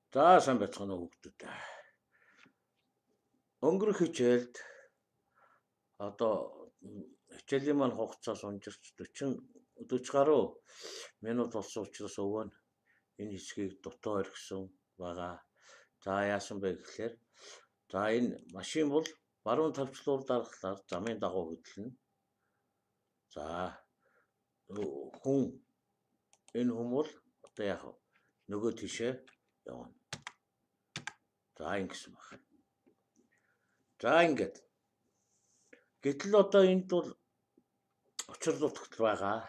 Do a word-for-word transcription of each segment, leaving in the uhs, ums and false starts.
За сайн байцгаана уу хүүхдүүд. Өнгөрөх хичээлд одоо хичээлийн маань хугацаас унжирч forty forty гаруй минут болсон учраас өвөө нь энэ хэсгийг дутуу орхисон байгаа. За яасан бэ гэхээр за энэ машин бол баруун тавчлуур дарахлаар замын дагуу хөдлөнө. За хүн энэ хүн бол одоо яг нөгөө тишээ явна. За ингэсэн байна. За ингээд. Гэтэл одоо энд бол учир дутагдал байгаа.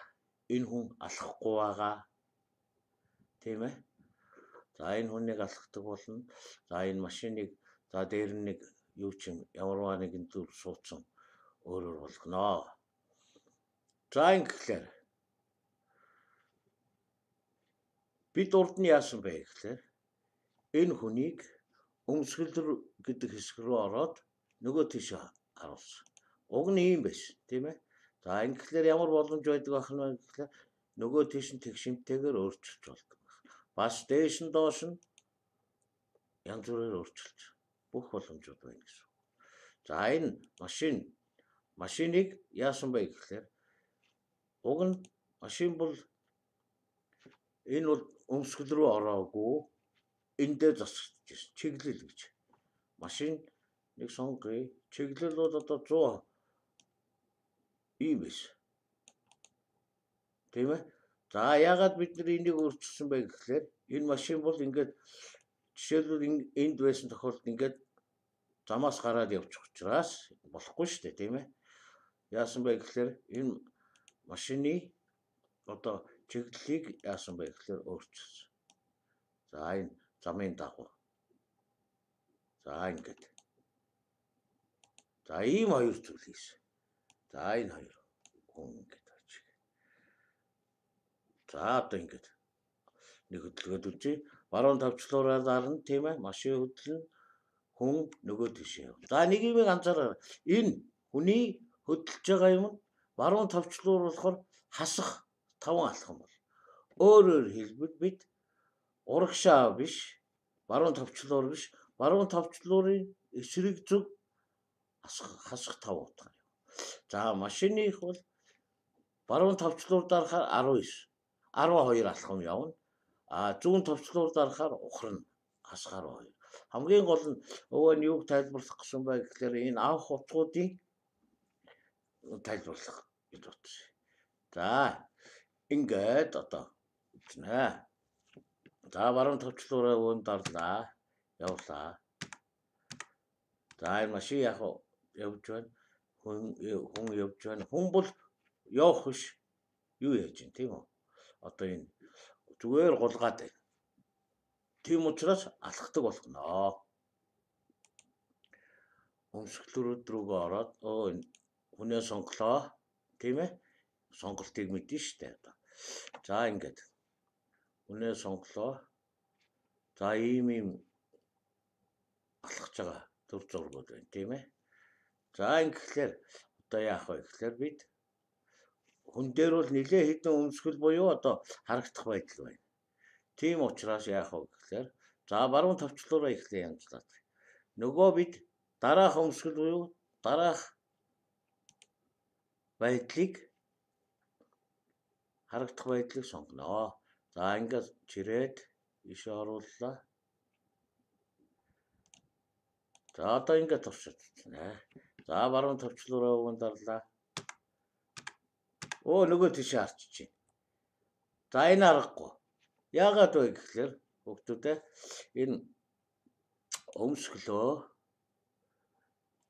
Энэ хүн алхахгүй байгаа. Тийм ээ. За энэ хүнийг алхахдаг болно. За энэ машиныг за дээр нь нэг юу ч юм ямарваа нэгэн зүйл суудсан өөрөөр болгоно. За ингэхлээр бид урд нь яасан бэ гэхээр энэ хүнийг өмсгөл гэдэг хэсэг рүү ороод нөгөө тийш харуулсан. Уг нь ийм байсан, тийм ээ. За ингэхлээр ямар боломж байдаг байх нь гэхээр нөгөө тийш нь тэг шимтээгээр өөрчилж болдог. Бас дээш нь доош нь янз бүрээр өөрчилж бүх боломжууд байна гэсэн. За энэ машин машиныг яасан бэ гэхээр уг нь машин бол энэ бол өмсгөл рүү ороогүй энэ дээр засаж ирсэн чиглэл гэж. Машин нэг сонгоё. Чиглэл бол одоо one hundred ийм биш. Тийм ээ. За яагаад бид нар энийг өөрчилсөн бэ гэхээр энэ машин бол ингээд жишээлбэл энд байсан тохиолдолд ингээд замаас гараад явчих учраас болохгүй шүү дээ, тийм ээ. Яасан бэ гэхээр энэ машины одоо чиглэлийг яасан бэ гэхээр өөрчилсөн. За энэ замын дагуу. За ингээд. За ийм хоёр зүйл хийсэн. За энэ хоёр хүн ингээд байж. За одоо ингээд нэг хөдөлгөөд үлжээ. Баруун тавчлуураар дарна, тийм ээ. Машин хөдлөн хүн нөгөө тийшээ яв. За нэг юм анзаараа. Энэ хүний хөдөлж байгаа юм баруун тавчлуур болохоор хасах таван алхам бол. Өөрөөр хэлбэл бид урагшаа биш, баруун тавчлуур биш, баруун тавчлуурын эсрэг зүг хасах тав утгаар. За машиных бол баруун тавчлуур дарахаар twelve алхам явна. А зүүн тавчлуур дарахаар ухрна хасгаар two. Хамгийн гол нь өвөө нь юуг тайлбарлах гэсэн бэ гэхээр энэ анх утгуудын тайлбарлах гэж бодсон. За ингээд одоо үзнэ. За баруун тавчлуураа өвөн дарлаа. Явлаа. За энэ машин яг явж байна. Хүн хүн явж байна. Хүн бол явах биш. Юу яаж юм тийм үү? Одоо энэ зүгээр гулгаад байна. Тийм учраас алхахдаг болгоно. Өмсгөлрүүд рүүгээ ороод оо энэ хүнээ сонглоо. Тийм ээ? Сонголтыг мэднэ шүү дээ одоо. За ингээд. Хүнээ сонглоо. За ийм ийм алхаж байгаа төр зургууд байна, тийм ээ? За ингэхлээр одоо яах вэ гэхээр бид хүн дээр бол нэлээ хэдэн өмсгөл буюу одоо харагдах байдал байна. Тийм учраас яах вэ гэхээр за баруун тавчлуураа ихлэ янзлаад. Нөгөө бид дараах өмсгөл буюу дараах байдлыг харагдах байдлыг сонгоно. За ингээд чирээд ишээ орууллаа. За одоо ингээд туршиж. За баруун тавчлуураа өвөн дарлаа. Оо нөгөө тийш харчих. За энэ аргагүй. Яагаад вэ гэхээр хүүхдүүдээ энэ өмсгөлөө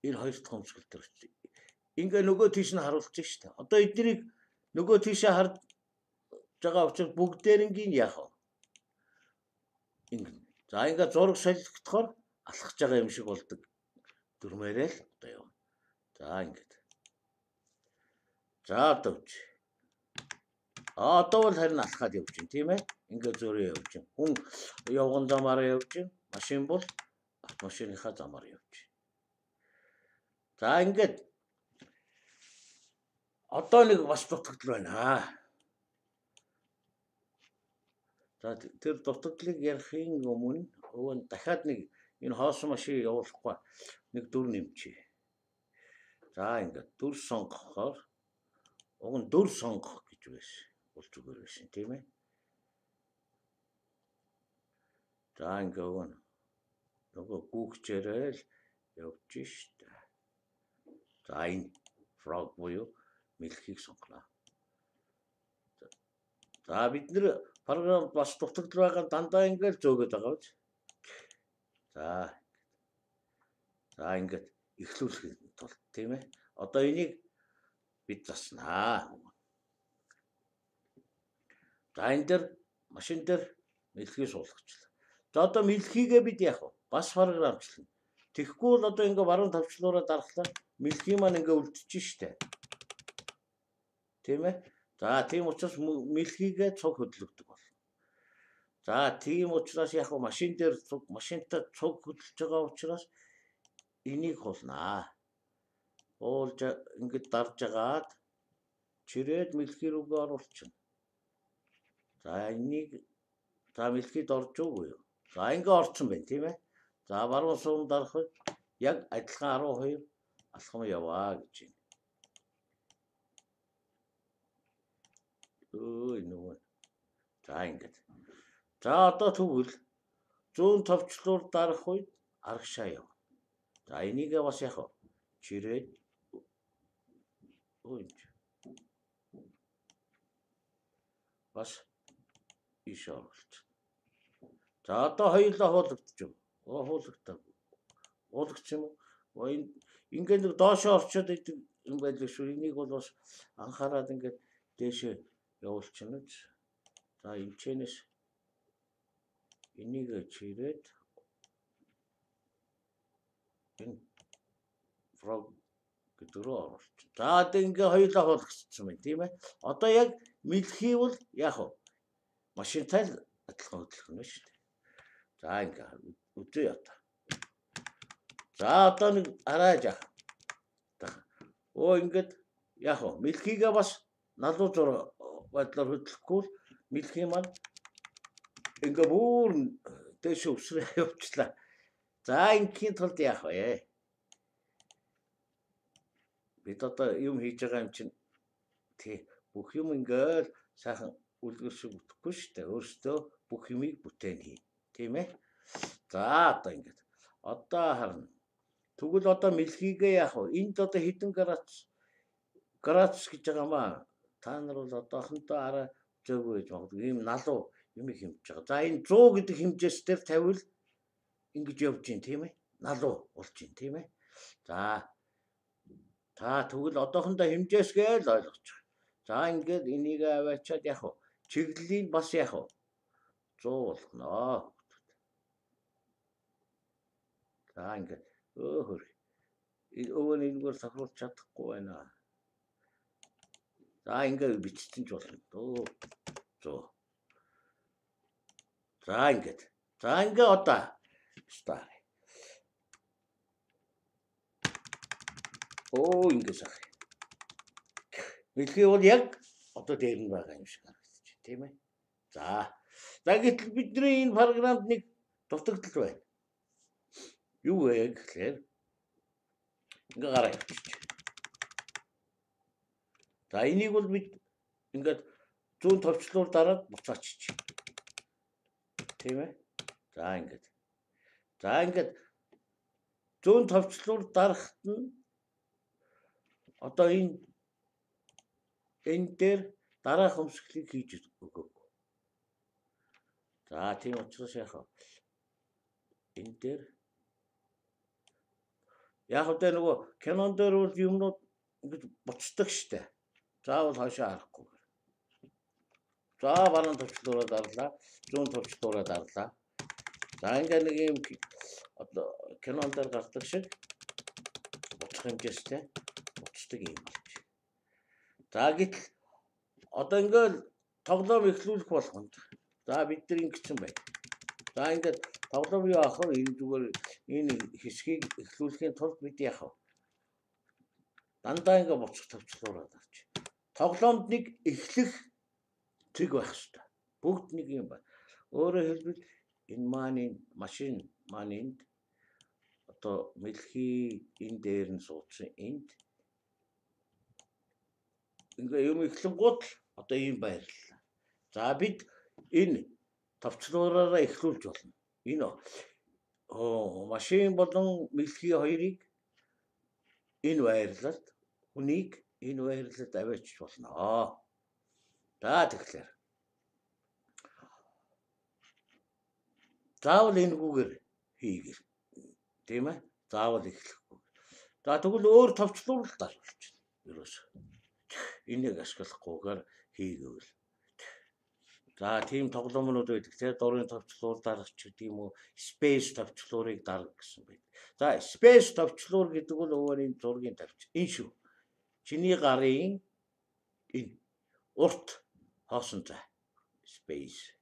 энэ хоёр дахь өмсгөл төр. Ингээ нөгөө тийш нь харуулж штэ. Одоо эднийг нөгөө тийшээ харж байгаа учраас бүгдээрнгийн яах вэ? Ингээ. За ингээ зураг солигдохоор алхаж байгаа юм шиг болдог. Дүрмээрээ л одоо явна. За ингээд. За одоо үуч. А одоо бол харин алхаад явж байна, тийм ээ? Ингээ зөөрөө явж байна. Хүн явган замаараа явж байна. Машин бол автомашиныхаа замаар явж байна. За ингээд. Одоо нэг бас дутагдал байна. За тэр дутагдлыг ярихын өмнө өвөн дахиад нэг энэ хоосон машин явуулахгүй нэг дүр нэмчээ. За ингээд дүр сонгохоор уг нь дүр сонгох гэж байсан. Бол зүгээр байсан тийм ээ. За ингээд өвөн нөгөө гүүгчээрэл явж штэ. За энэ frog буюу мэлхийг сонгоно. За бид нэр програм бас дутагдал байгаа дандаа ингээд зөөгöd байгаа биз. За. За ингээд эхлүүлэх тул тийм ээ. Одоо энийг бид заснаа. За энэ дэр машин дээр мэлхий суулгачлаа. За одоо мэлхийгээ бид яах вэ? Бас програмчлана. Тэгэхгүй бол одоо ингээ баруун тавчлуураа дарахлаа мэлхий маань ингээ үлдчихэж штэ. Тийм ээ. За тийм учраас мэлхийгээ цуг хөдлөгдөг болно. За тийм учраас яг машин дээр цуг машинтай цуг хөдлөж байгаа учраас энийг хуулнаа. Уулж ингэж дарж агаад чирээд мэлхий рүүгээ оруулчихна. За энийг за мэлхийд орж уугүй юу? За ингээ орсон байна тийм ээ. За баруун суун дарахад яг адилхан арван хоёр алхам яваа гэж байна. Өө нөгөө. За ингээд. За одоо тэгвэл зүүн товчлуур дарах үед аргашаа яв. За энийгээ бас яг чирээд өө бас иш оруулж. За одоо хоёулаа хуулагдчих. Оо хуулагдав. Хуулагч юм уу? Ингээд нэг доошоо орчод идэг юм байл шүү. Энийг бол бас анхаарал ингээд дээшээ явуулчихна гэж. За эмчэнэс энийг чирээд энэ frog гэдөрөө оруулж. За одоо ингээ хоёулаа хуулагдсан байна тийм ээ. Одоо яг мэлхий бол яах вэ? Машинтай адилхан хөдлөх нь шүү дээ. За ингээ үзье ята. За одоо нэг арааж яах. Оо ингээд яах вэ? Мэлхийгээ бас налуу зур байдлаар хөдлөхгүй мэлхий маань ингээ бүр дэш өвсрээ явуулчлаа. За ингийн тулд яах вэ? Бид одоо юм хийж байгаа юм чинь тий бүх юм ингээл сайхан үлгэршиг бүтэхгүй шүү дээ. Өөртөө бүх юмыг бүтээн хий. Тийм ээ. За одоо ингээд. Одоо харна. Тэгвэл одоо мэлхийгээ яах вэ? Энд одоо хэдэн градус градус гэж байгаа маа. Та нар бол одоохондоо арай зөөгөө гэж магадгүй ийм налуу юм хэмж байгаа. За энэ сто гэдэг хэмжээс дээр тавил ингэж явж гин тийм ээ. Налуу болж гин тийм ээ. За та тэгвэл одоохондоо хэмжээсгээ л ойлгочих. За ингээд энийг аваачаад яах вэ? Чиглэлийг бас яах вэ? сто болгоно. За ингээд өө хөр. Өвөө нэггээр сахруулж чадахгүй байна. За ингээд бичсэн ч болно. Өө сто. За ингээд. За ингээд одоо стар. Оо ингээд сах. Мэлхий бол яг одоо дээр нь байгаа юм шиг харагдаж байна, тийм ээ. За. За гэтэл бидний энэ програмд нэг дутагдал байна. Юу вэ гэхээр ингээ гараа явчих. За энийг бол бид ингээд зүүн товчлуур дараад буцаачих. Тийм ээ. За ингээд. За ингээд зүүн товчлуур дарахт нь одоо энэ энэ дээр дараах өмсгөлийг хийж өгөөг. За тийм учраас яах вэ? Энэ дээр яг одоо нөгөө кинон дээр бол юмнууд ингэж буцдаг штэ. Заавал хойшоо харахгүй. За баруун товчлуураа дарлаа, зүүн товчлуураа дарлаа. За ингээ нэг юм одоо кинон дээр гардаг шиг буцах хэмжээстэй буцдаг юм болж. За гэтэл одоо ингээл тоглоом эхлүүлэх болгонд. За бид нар ингэсэн байна. За ингээд тоглоом юу аах вэ? Энэ зүгээр энэ хэсгийг эхлүүлэхийн тулд бид яах вэ? Дандаа ингээ буцах товчлуураа дарж. Тоглоомд нэг эхлэх цэг байх хэрэгтэй. Бүгд нэг юм байна. Өөрөөр хэлбэл энэ маань машин маань энд одоо мэлхий энэ дээр нь суудсан энд ингээ юм эхлэнгууд одоо ийм байрлалаа. За бид энэ товчлуураараа эхлүүлж болно. Энэ оо машин болон мэлхий хоёрыг энэ байрлалд хүнийг энэ байрлалд аваачих болно. За тэгэхээр заавал энэгээр хийгэр. Тийм ээ? Заавал эхлэхгүй. За тэгвэл өөр товчлуурал даруулж байна. Ерөөс. Энийг ашиглахгүйгээр хийгээвэл. За тийм тоглоомнууд байдаг. Тэгээ дурын товчлуур дарах ч гэдэг юм уу, space товчлуурыг дарах гэсэн байдаг. За space товчлуур гэдэг бол өөр энэ зургийн тавьч. Энэ шүү. Чиний гарын энэ урт хоосон цай. Space.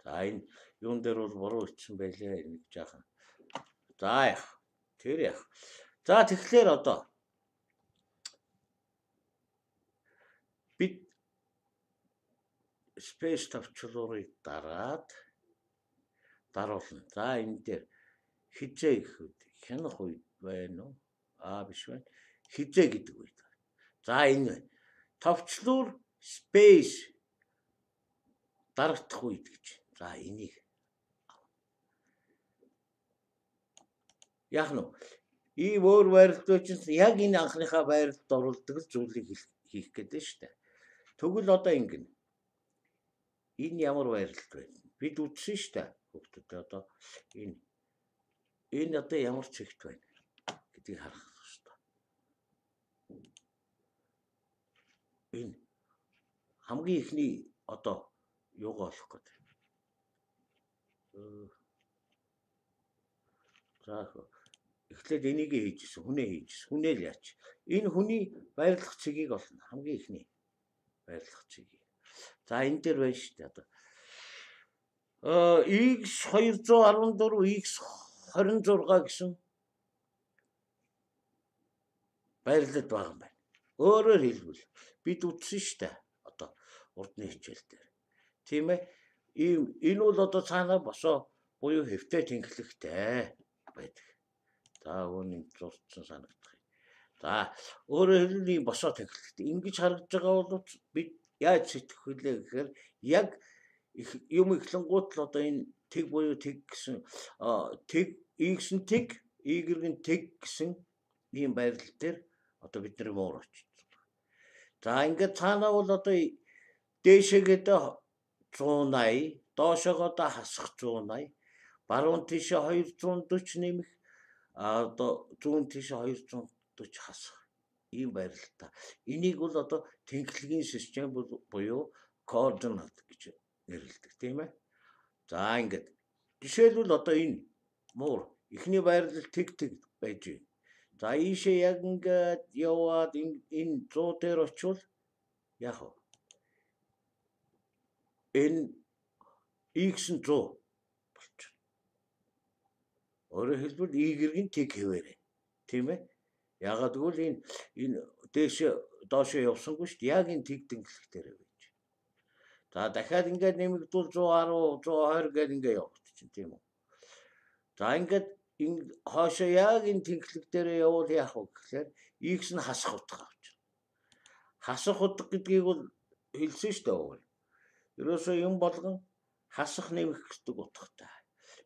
За энэ юун дээр бол буруу ичсэн байлээ нэг жаахан. За яах. Тэр яах. За тэгэхээр одоо бид space товчлуурыг дараад даруулна. За энэ дээр хизээ гэхэд хянах үед байна уу? Аа биш байна. Хизээ гэдэг үед. За энэ товчлуур space дарагдах үед гэж. За энийг яах нь ийм өөр байрлал чинь яг энэ анхныхаа байрлалд оруулдаг зүйлийг хийх гэдэг шүү дээ. Тэгвэл одоо ингэнэ. Энэ ямар байрлал байна? Бид үзсэн шүү дээ. Хүүхдүүд одоо энэ энэ одоо ямар чигт байна гэдгийг харах хэрэгтэй. Энэ хамгийн ихний одоо юугаа олох гэдэг. За эхлээд энийг хийжсэн, хүнээ хийжсэн. Хүнээ л яач. Энэ хүний байрлах цэгийг олно. Хамгийн ихний байрлах цэгийг. За энэ дээр байна шүү дээ одоо. Э X двести и четыре, X двадцать шесть гэсэн байрлал байгаа юм байна. Өөрөөр хэлбэл бид үтсэн шүү дээ. Одоо урдны хичээл дээр. Тийм ээ? Ийм энэ бол одоо цаанаа босоо буюу хэвтэй тэнхлэгтэй байдаг. За үүнийг зурцсан санагдах юм. За өөрөөр хэлбэл ийм босоо тэнхлэгтэй. Ингэж харагдж байгаа бол бид яаж сэтгэх вүлээ гэхээр яг юм эхлэнгуут л одоо энэ тэг буюу тэг гэсэн тэг X нь тэг, Y нь тэг гэсэн ийм байрлал дээр одоо бидний муур очиж. За ингээд цаанаа бол одоо дээшээгээд one eighty, доошоогоо хасах one eighty, баруун тишээ two forty нэмэх, одоо зүүн тишээ two forty хасах. Ийм байрлалтай. Энийг бол одоо тэнхлэгийн систем буюу координат гэж нэрлэдэг, тийм ээ. За ингээд жишээлбэл одоо энэ муур эхний байрлал тэг тэг байж байна. За ийшээ яг ингээд яваад энэ one hundred дээр очивол яах вэ? Энэ X нь one hundred болчих. Өөрөөр хэлбэл Y-ийн тэг хэвээрээ. Тийм ээ? Ягаад гэвэл энэ энэ дээш доошоо явсангүй шүү дээ. Яг энэ тэг тэнхлэх дээр байж. За дахиад ингээд нэмэгдүүл one ten, one twenty гээд ингээд явагдчих тийм үү? За ингээд энэ хоошоо яг энэ тэнхлэг дээр явуул яах вэ гэхээр X нь хасах утга авч. Хасах утга гэдгийг бол хэлсэн шүү дээ. Ерөөсөө юм болгон хасах нэмэх гэдэг утгатай.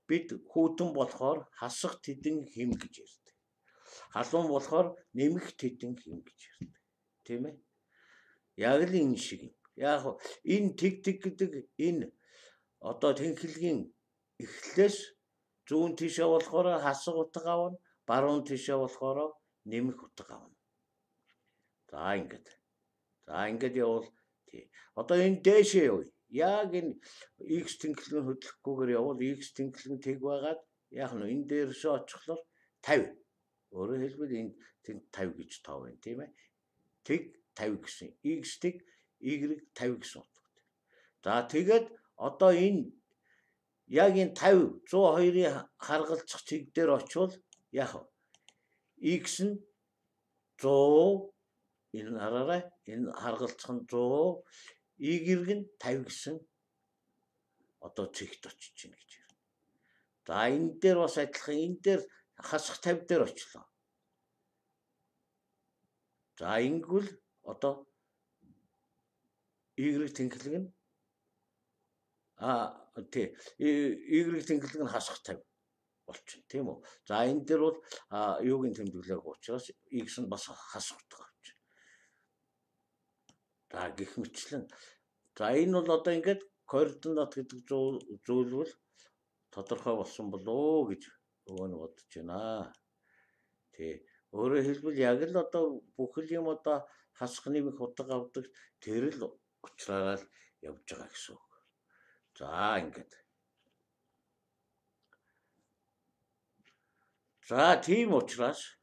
Бид хүүтэн болохоор хасах тэдэн хэм гэж ярьдаг. Халуун болохоор нэмэх тэдэн хэм гэж ярьдаг. Тийм ээ? Яг л энэ шиг юм. Яг энэ тэг тэг гэдэг энэ одоо тэнхлэгийн эхлэлээс зүүн тишээ болохоор хасах утга авна, баруун тишээ болохоор нэмэх утга авна. За ингээд. За ингээд явал тий. Одоо энэ дээшээ явъя. Яг энэ X тэнхлэг хөдлөхгүйгээр явал X тэнхлэг тэг байгаад яг нь энэ дээршээ очихлоор fifty. Өөрөөр хэлбэл энэ fifty гэж тоо байна, тийм ээ? Тэг fifty гэсэн. X тэг Y fifty гэсэн утгатай. За тэгээд одоо энэ яг энэ fifty, one oh two-ийн харгалзах цэг дээр очивол яах вэ? X нь one hundred, энэ хараарай, энэ харгалзах нь one hundred, Y нь fifty гэсэн одоо цэгт очиж чинь гэж байна. За энэ дээр бас адилхан энэ дээр хасах тавь дээр очлоо. За ингэвэл одоо Y тэнхлэг нь а тий Y тэнхлэг нь хасах тавь болчихно тийм үү. За энэ дээр бол юугийн тэмдэглээг учраас X нь бас хасагддаг авч. За гэх мэтлэн за энэ бол одоо ингээд координат гэдэг зүйл бол тодорхой болсон болоо гэж өвөө нь бодож байна. Тий. Өөрөөр хэлбэл яг л одоо бүхэл юм одоо хасах нэмэх удаг авдаг тэр л учраараа л явж байгаа гэсэн үг. За ингээд. За тийм учраас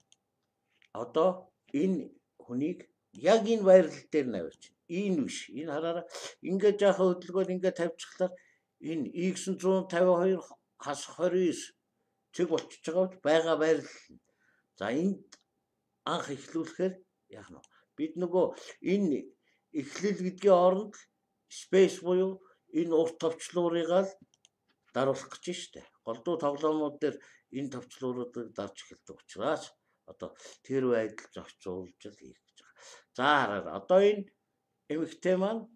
одоо энэ хүнийг яг энэ байрлал дээр навьж энэ биш. Энэ хараараа ингээд жаахан хөдөлгөөр ингээд тавьчихлаар энэ X one five two хасах twenty nine цэг болчихж байгаа байгаа байрлал. За энд анх эхлүүлэхээр яах нь бид нөгөө энэ эхлэл гэдгийн оронд space буюу энэ урт товчлуурыг л даруулах гэж штэ. Голдуу тоглоомнууд дээр энэ товчлууруудыг дарж эхэлдэг учраас одоо тэр байдал зохицуулж л хийх гэж байгаа. За хараа одоо энэ эмэгтэй маань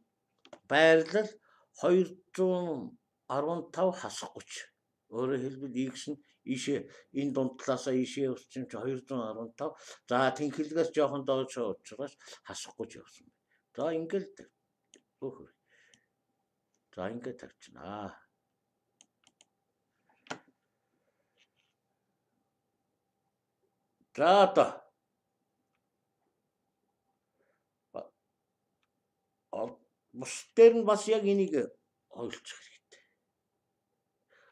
байрлал two fifteen хасах thirty. Өөрөөр хэлбэл X нь ийшээ энэ дунд талаасаа ийшээ явсан чи two fifteen. За тэнхлэгээс жоохон доош учраас хасах thirty явсан. За ингээл өөхөр. За ингээд тавьчихнаа. За одоо бус дээр нь бас яг энийг ойлцох хэрэгтэй.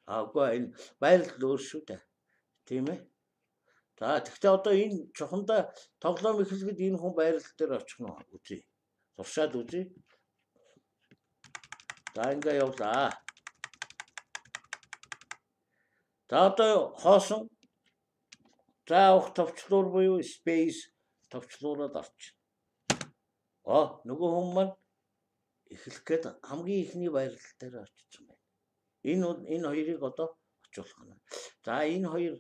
Аагүй энэ байрлал өөр шүү дээ. Тийм ээ. За тэгтээ одоо энэ чухамдаа тоглоом эхлэхэд энэ хүн байрлал дээр очих нь үзье. Туршаад үзье. За ингээ явлаа. За одоо хоосон за ух товчлуур буюу space товчлуураад орчих. Оо нөгөө хүн маань эхлэх гээд хамгийн ихний байрлал дээр очсон байна. Энэ энэ хоёрыг одоо очихлох нь. За энэ хоёр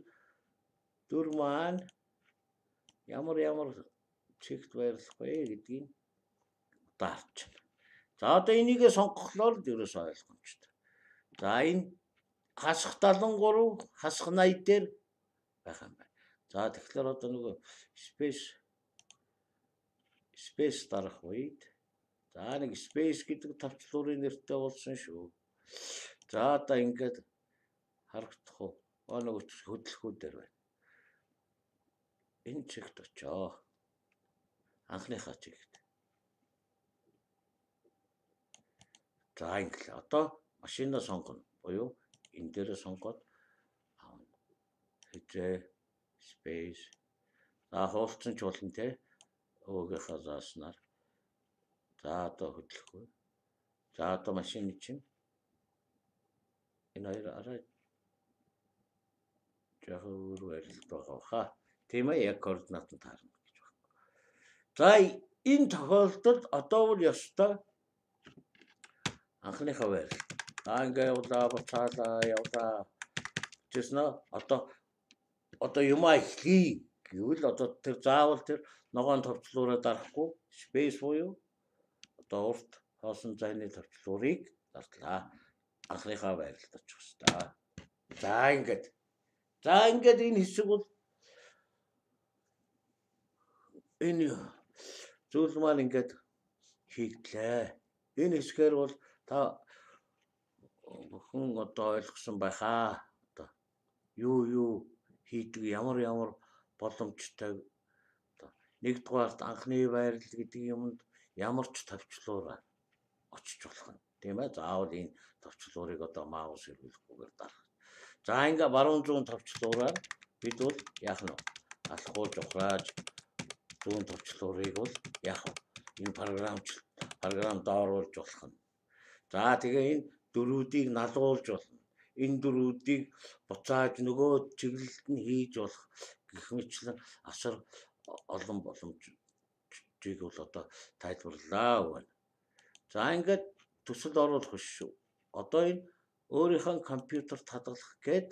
дүр маань ямар ямар чигт байрлах вэ гэдгийг даарч байна. За одоо энийг сонгохлоор л ерөөсөө ойлгомжтой. За энэ хасах seventy-three хасах ninety дээр байх юм байна. За тэгэхээр одоо нөгөө space space дарах үед за нэг space гэдэг товчлуурын нэртэй болсон шүү. За одоо ингээд харагдах уу? Аа нөгөө хөдөлгөөн дээр байна. Энэ чигт очоо. Анхныхаа чигт. За ингээд одоо машинаа сонгоно. Буюу энэ дээрээ сонгоод хэзээ space за хуулцсан ч болно те. Өөгийнхөө зааснаар. За одоо хөдлөхгүй. За одоо машины чинь энэ хоёр арай жоохон өөр байрлал байгаа хаа. Тийм ээ яг координат нь таарна гэж байна. За энэ тохиолдолд одоо бол ёстой анхныхаа байрлал. За ингээ явлаа буцаалаа явлаа. Тэснэ одоо одоо юмаа эхлэе гэвэл одоо тэр заавал тэр ногоон товчлуураа дарахгүй space буюу одоо урт хоосон зайны товчлуурыг дартлаа. Анхныхаа байрлалд очих хэвээр. За ингээд. За ингээд энэ хэсэг бол энэ зүйл маань ингээд хийгдлээ. Энэ хэсгээр бол та бүхэн одоо ойлгосон байхаа. Одоо юу юу хийдэг ямар ямар боломжтой одоо нэгдүгээрт анхны байрлал гэдэг юмд ямар ч товчлуур очиж болох нь тийм ээ. Заавал энэ товчлуурыг одоо маус хэрэглэхгүйгээр дарах. За ингээ баруун зүүн товчлуураар бид бол яах нь алхууж ухрааж зүүн товчлуурыг бол яах вэ? Энэ програмч програм дооруулж болох нь. За тэгээ энэ дөрүүдийг налуулж болно. Энэ дөрүүдийг буцааж нөгөө чиглэлд нь хийж болох гэх мэтлэн асар олон боломжийг бол одоо тайлбарлаа байна. За ингээд төсөл оруулах биш шүү. Одоо энэ өөрийнхөө компьютерт хадгалах гээд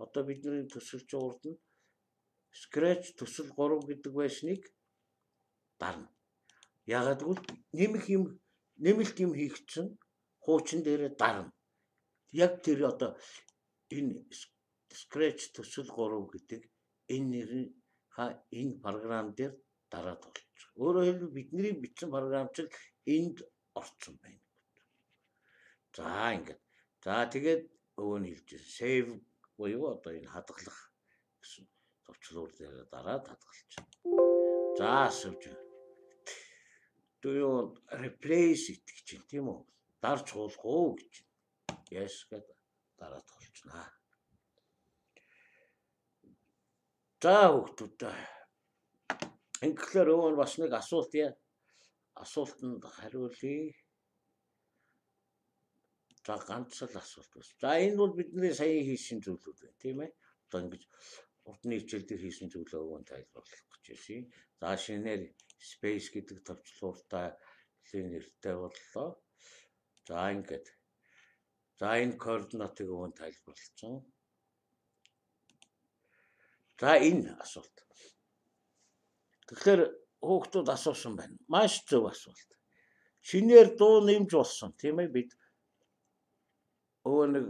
одоо бидний төсөлж урд нь Scratch төсөл гурав гэдэг байсныг дарна. Ягаад гэвэл нэмэх юм нэмэлт юм хийх чинь хуучин дээрээ дарна. Яг тэр одоо энэ Scratch төсөл гурав гэдэг энэ нэрийн ха энэ програм дээр дараад болж байгаа. Өөрөөр хэлбэл бидний бичсэн програм чинь энд орсон байна. За ингээд. За тэгээд өвөө нь хэлж save буюу одоо энэ хадгалах гэсэн товчлуур дээр дараад хадгалж. За асууж. Do you replace it гэж юм тийм үү? Дарж хуулах уу гэж. Yes гэдэг дараад холчнаа. За хүүхдүүд. Ингээр өвөө нь бас нэг асуулт яа. Асуултанд хариулъя. За ганц л асуулт байна. За энэ бол бидний сая хийсэн зүйлүүд байна, тийм ээ. Одоо ингэж урдны хичээл дээр хийсэн зүйлээ өвөө нь тайлбарлах гэж байна. За шинээр space гэдэг товчлууртай нэртэй боллоо. За ингээд. За энэ координатыг өвөө нь тайлбарлсан. За энэ асуулт. Тэгэхээр хүүхдүүд асуусан байна. Маш зөв асуулт. Шинээр дуу нэмж болсон, тийм ээ бид өвөө нэг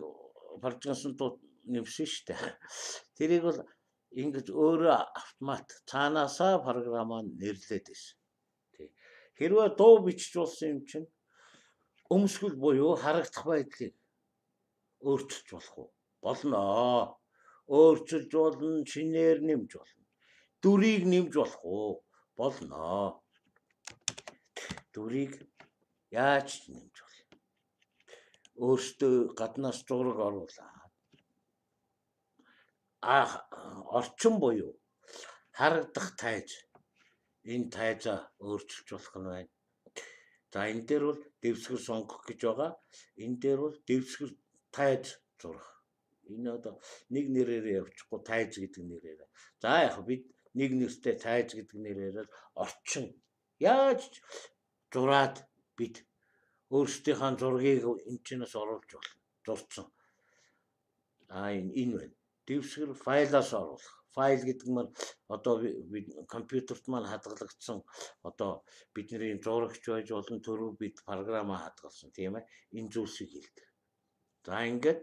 баржгансан дуу нэмсэн шүү дээ. Тэрийг бол ингэж өөрөө автомат цаанаасаа програмаа нэрлээд байсан. Тий. Хэрвээ дуу бичиж болсон юм чинь өмсгөл буюу харагдах байдлыг өөрчилж болох уу? Болно. Өөрчилж болно, шинээр нэмж болно. Дүрийг нэмж болох уу? Болно. Дүрийг яаж нэмж болно? Өөртөө гаднаас зураг оруулаад а орчин буюу харагдах тайз энэ тайзаа өөрчилж болох нь байна. За энэ дээр бол дэвсгэр сонгох гэж байгаа. Энэ дээр бол дэвсгэр тайз зурах. Энэ одоо нэг нэрээр явчихгүй тайз гэдэг нэрээр. За яг бид нэг нэртэй тайз гэдэг нэрээр орчин яаж зураад бид өөрсдийнхээ зургийг энэ чинээс оруулж болно. Зурцсан. А энэ энэ байна. Дэвсгэр файлаас оруулах. Файл гэдэг нь одоо компьютерт маань хадгалагдсан одоо бидний зурагч байж болон төрөв бид програмаа хадгалсан тийм ээ. Энэ зүйлсийг хэлдэг. За ингээд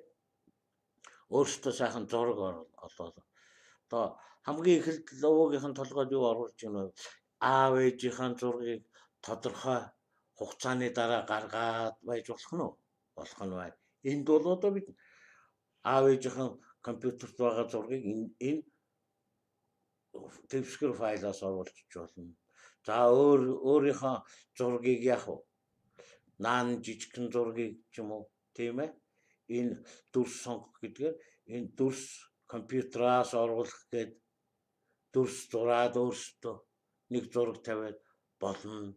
өөртөө сайхан зураг олоод одоо хамгийн ихэнд логогийн толгойд юу оруулж байна вэ? Аав ээжийн зургийг тодорхой хугацааны дараа гаргаад байж болох нь уу? Болох нь байна. Энд бол одоо бид аав ээжийн компьютерт байгаа зургийг энэ энэ дэвсгэр файлаас оруулж болно. За өөр өөрийнхөө зургийг яах вэ? Наан жижигхэн зургийг ч юм уу, тийм ээ? Энэ дүрс сонгох гэдгээр энэ дүрс компьютераас оруулах гээд дүрс зураад өөрсдөө нэг зураг тавиад болно.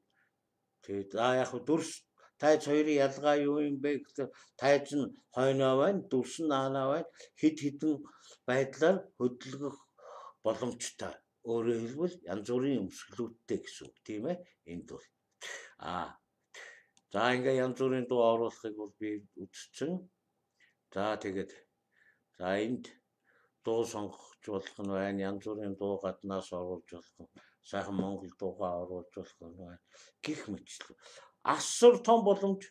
Тэгээд за яг дүрс тайз хоёрын ялгаа юу юм бэ гэхээр тайз нь хойноо байна, дүрс нь наанаа байна. Хид хідэн байдлаар хөдөлгөх боломжтой. Өөрөөр хэлбэл янз бүрийн өмсгөлүүдтэй гэсэн үг, тийм ээ? Энд бол аа за ингээ янз бүрийн дуу оруулахыг бол би үзсэн. За тэгээд за энд дуу сонгох болох нь байна. Янз бүрийн дуу гаднаас оруулж болох. Сайхан монгол дуугаа оруулж болох нь байна. Гэх мэтлээ. Асар том боломж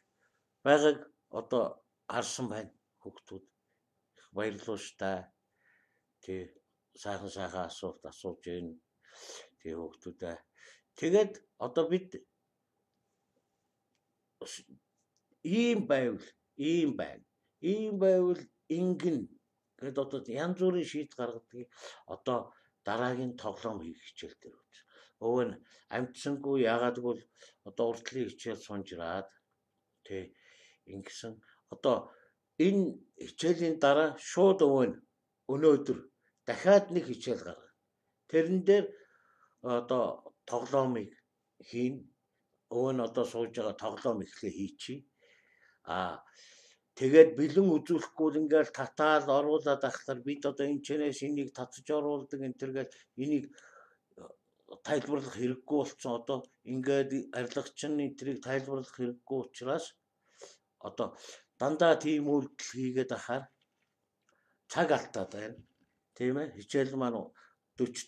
байгааг одоо харсан байна хүүхдүүд. Баярлалаа шүү дээ. Тэг сайхан сайхан асуулт асууж байна. Тэг хүүхдүүдээ. Тэгээд одоо бид ийм байвал ийм байна. Ийм байвал ингэн гэдэг одоо янз бүрийн шийд гаргадаг. Одоо дараагийн тоглоом хийх хичээл дээр байна. Өвөө нь амтсангүй яагаад гэвэл одоо урдлын хичээл сунжраад тий ингэсэн одоо энэ хичээлийн дараа шууд өвөө нь өнөөдөр дахиад нэг хичээл гаргана. Тэрэн дээр одоо тоглоомыг хийн. Өвөө нь одоо сууж байгаа тоглоом ихлэ хийчихье. Аа тэгээд бэлэн үзүүлэхгүй ингээл татаал оруулаад ахлаар бид одоо энэ чэнэс энийг татж оруулдаг энэ төргээл энийг тайлбарлах хэрэггүй болсон. Одоо ингээд арилгач нь энтрийг тайлбарлах хэрэггүй учраас одоо дандаа тийм үйлдэл хийгээд ахаар цаг алдаад байна. Тийм ээ. Хичээл маань forty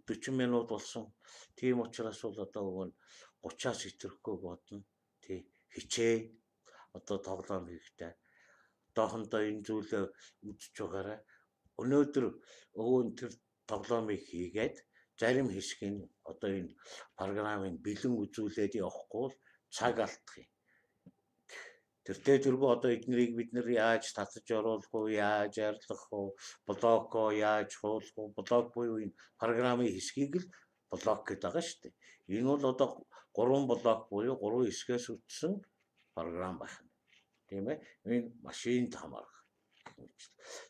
fifty минут болсон. Тийм учраас бол одоо өгөн thirty-аас хэтрэхгүй бодно. Тий. Хичээ. Одоо тоглоом хийхдээ. Одоохондоо энэ зүйлээ үзэж байгаарай. Өнөөдөр өвөн тэр тоглоомыг хийгээд зарим хэсэг нь одоо энэ програмыг бэлэн үзүүлээд явахгүй цаг алдах юм. Тэртээ тэргүй одоо эднэрийг бид нар яаж татаж оруулах уу, яаж арилгах уу, блоко яаж хуулах уу, блок буюу энэ програмын хэсгийг л блок гэдэг байгаа шүү дээ. Энэ бол одоо гурван блок буюу гурван хэсгээс үтсэн програм байна. Тийм ээ. Энэ машинд хамаарах.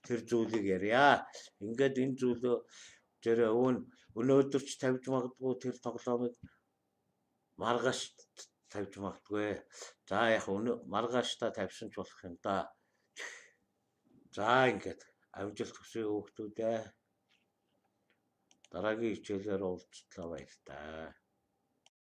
Тэр зүйлийг ярья. Ингээд энэ зүйлөө тэр өвөн өнөөдөр ч тавьж магадгүй тэр тоглоомыг маргааш тавьж магадгүй. За яг өнөө маргааш та тавьсан ч болох юм да. За ингээд амжилт хүсье хүүхдүүдээ. Дараагийн хичээлээр уулзтлаа баяр таа.